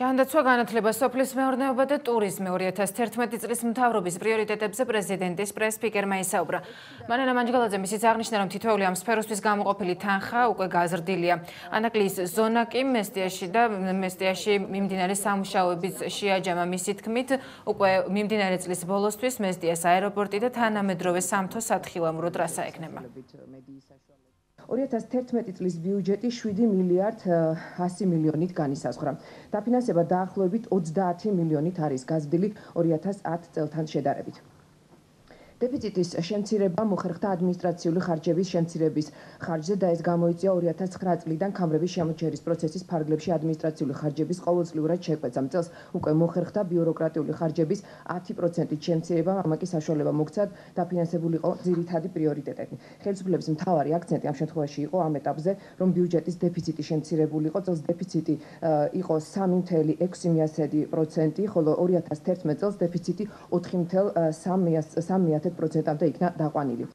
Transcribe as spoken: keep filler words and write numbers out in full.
ჯანდაცვა, განათლება, სოფლის მეურნეობა და ტურიზმი ორი ათას თერთმეტი წლის მთავრობის პრიორიტეტებზე პრეზიდენტის პრეს-სპიკერმა ისაუბრა. მანანა მანჯგალაძე მისიც აღნიშნა, რომ თითოეული ამ სფეროსთვის გამოყოფილი თანხა უკვე გაზრდილია. ანაკლიის ზონა კი მესტიაში და მესტიაში მიმდინარე სამუშაოების შეაჯამა. მისი თქმით, უკვე მიმდინარე წლის ბოლოსთვის მესტიას აეროპორტი და თანამედროვე სამთო სათხილამურო ტრასა ექნება. ორი ათას თერთმეტი წლის ბიუჯეტი შვიდი მილიარდ ასი მილიონით განისაზღვრა. დაფინანსება დაახლოებით ოცდაათი მილიონით არის გაზრდილი ორი ათას ათ წელთან შედარებით. დეფიციტის შემცირება მოხერხდა ადმინისტრაციული ხარჯების შემცირების ხარჯზე და ეს გამოიწვია ორი ათას ცხრა წლიდან ქამრების შემოჩერის პროცესის ფარგლებში ადმინისტრაციული ხარჯების ყოველწლიურად შეკვეცა. წელს უკვე მოხერხდა ბიუროკრატიული ხარჯების ათი პროცენტით შემცირება, ამაკი საშუალება მოგცათ დაფინანსებულიყო ძირითადი პრიორიტეტები. ხელისუფლების მთავარი აქცენტი ამ შემთხვევაში იყო ამ ეტაპზე, რომ ბიუჯეტის დეფიციტი შემცირებულიყო. წელს დეფიციტი იყო სამი ათეული ექვსი პროცენტი, ხოლო ორი ათას თერთმეტ წელს დეფიციტი ოთხი ათეული სამი პროცენტამდე იქნა დაყვანილი.